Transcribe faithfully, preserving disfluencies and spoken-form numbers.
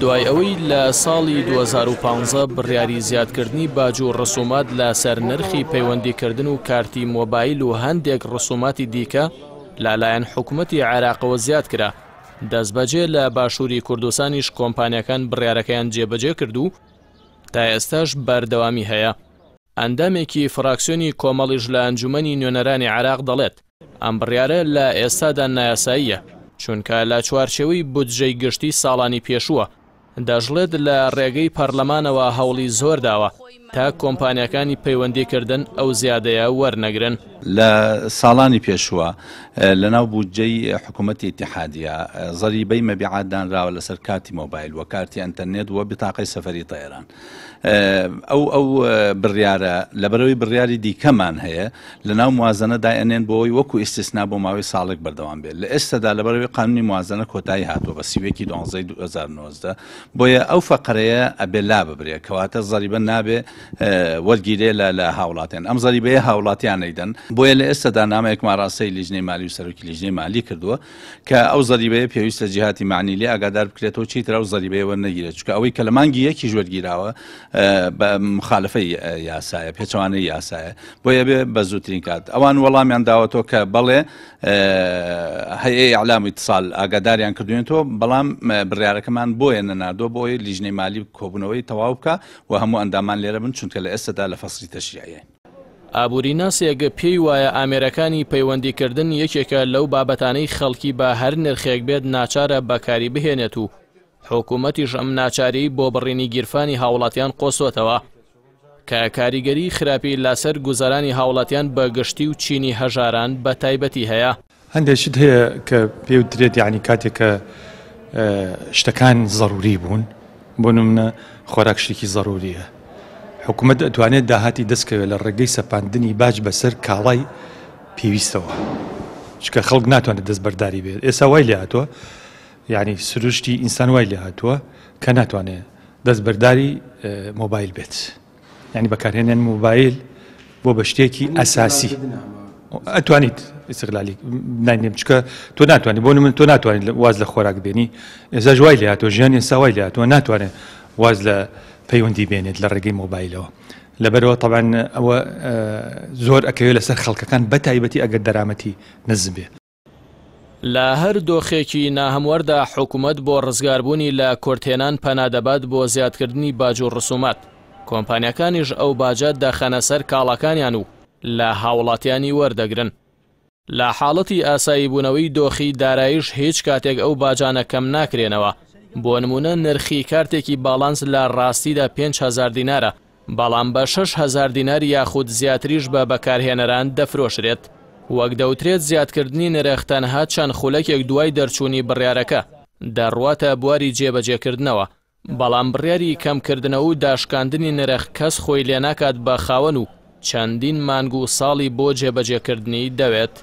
دوای ئەوەی لە ساڵی دوو هەزار و پازدە بڕیاری زیادکردنی باج و ڕسومات لەسەر نرخی پەیوەندیکردن و کارتی مۆبایل و هەندێک ڕسوماتی دیکە لەلایەن حکوومەتی عێراقەوە زیاد کرا، دەستبەجێ لە باشووری کوردستانیش کۆمپانیەکان بڕیارەکەیان جێبەجێ کرد و تا ئێستاش بەردەوامی هەیە. ئەندامێکی فراکسیۆنی کۆمەڵیش لە ئەنجومەنی نوێنەرانی عێراق دەڵێت ئەم بڕیارە لە ئێستادا نایاساییە، چونکە لە چوارچێوەی بودجەی گشتی ساڵانی پێشووە. دەشڵێت لە ڕێگەی پەرلەمانەوە هەوڵی زۆر داوە تا کۆمپانیەکانی پەیوەندیکردن ئەو زیادەیە وەرنەگرن. لە ساڵانی پێشووە لەناو بودجەی حکوومەتی ئیتیحادیە زەریبەی مەبیعات دانراوە لەسەر کارتی مۆبایل و کارتی ئەنتەرنێت و بتاقەی سەفەری تەیران. ئەو ئەو بڕیارە لەبەرەوەی بڕیاری دیکەمان هەیە لەناو موازنە دایئەنێن بۆ ئەوەی وەکو ئیستیسنا بۆ ماوەی ساڵێک بەردەوام بێت. لە ئێستادا لەبەرەوەی قانونی موازنە کۆتایی هاتووە بە سی و یەکی دوانزەی دوو هەزار و نۆزدە، بۆیە ئەو فەقەرەیە ئەبێ لا ببرێ، کەواتە زەریبە نابێ وەرگیرێ لە هاوڵاتیان. ئەم زەریبەیە هاوڵاتیان نەیدەن. بۆیە لە ئێستادا نامەیەکمان ڕاستەی لیژنەی مالی و سەرۆکی لیژنەی مالی کردووە کە ئەو زەریبەیە پێویستە جیهاتی معنی لێ ئاگادار بکرێتەوە چیتر ئەو زەریبەیە وەرنەگیرێت، چونکە ئەوەی کە لە مانگی یەکیش وەرگیراوە بە مخالفەی یاسایە، پێچەوانەی یاسایە، بۆیە بێ بە زووترین کات. ئەوان وەڵامیان داوەتەوە کە بەڵێ هەیە ئیعلام و ئیتیصال ئاگاداریان کردوێنەوە، بەڵام بڕیارەکەمان بۆیە نەناردووە بۆ ئەوەی لیژنەی مالی کۆبوونەوەی تەواو بکە و هەموو ئەندامان لێرە بن، چونکە لە ئێستادا لە فەسڵی تەشریعیین. ئابووریناسێک پێی وایە ئامێرەکانی پەیوەندیکردن یەکێکە لەو بابەتانەی خەڵکی بە هەر نرخێک بێت ناچارە بەکاری بهێنێت و حکوومەتیش ئەم ناچاری بۆ بڕینی گیرفانی هاوڵاتیان قۆستۆتەوە کە کاریگەری خراپی لەسەر گوزەرانی هاوڵاتیان بە گشتی و چینی هەژاران بە تایبەتی هەیە. هەندێک شت هەیە کە پێوترێت، یعنی کاتێک کە شتەکان زەروری بوون، بۆ نمونە خۆراک شتێکی زەروریە، حکوومەت ئەتوانێت داهاتی دەستکەوێت لە ڕێگەی سەپاندنی باج بەسەر کاڵای پێویستەوە، چونکە خەڵک ناتوانێت دەستبەرداری بێت. ئێستا وای لێ هاتووە، یعنی سروشتی ئینسان وای لێ هاتووە کە ناتوانێت دەستبەرداری مۆبایل بێت، یعنی بەکارهێنان مۆبایل بۆ بە شتێکی ئەساسی ئەتوانیت ئیستغلالی ناینێم، چونکە تۆ ناتوانیت، بۆ نمونە تۆ ناتوانیت واز لە خۆراک بێنی. ئێستاش وای لێ هاتووە، ژیان ئێستا وای لێ هاتووە ناتوانێت واز لە پەیوەندی بێنێت لە ڕێگەی مۆبایلەوە. لەبەرەوە طبعاً ئەوە زۆر ئەکەوێت لەسەر خەڵکەکان بە تایبەتی ئەگەر دەرامەتی نزم بێ. لە هەر دۆخێکی ناهەموەردا حکوومەت بۆ ڕزگاربوونی لە کورتهێنان پەنا دەبات بۆ زیادکردنی باج و ڕسومات. کۆمپانیەکانیش ئەو باجە دەخەنە سەر کاڵاکانیان و لە هاوڵاتیانی وەردەگرن. لە حاڵەتی ئاسایی بوونەوەی دۆخی دارایش هیچ کاتێک ئەو باجانە کەم ناکرێنەوە. بۆ نمونە نرخی کارتێکی باڵانس لە ڕاستیدا پێنج هەزار دینارە، بەڵام بە شەش هەزار دینار یاخود زیاتریش بە بەکارهێنەران دەفرۆشرێت. وەک دەوترێت زیادکردنی نرخ تەنها چەند خولەکێک دوای دەرچوونی بڕیارەکە دەڕواتە بواری جێبەجێکردنەوە، بەڵام بڕیاری کەمکردنەوە و داشکاندنی نرخ کەس خۆی لێ ناکات بە خاوەن و چەندین مانگ و ساڵی بۆ جێبەجێکردنی دەوێت.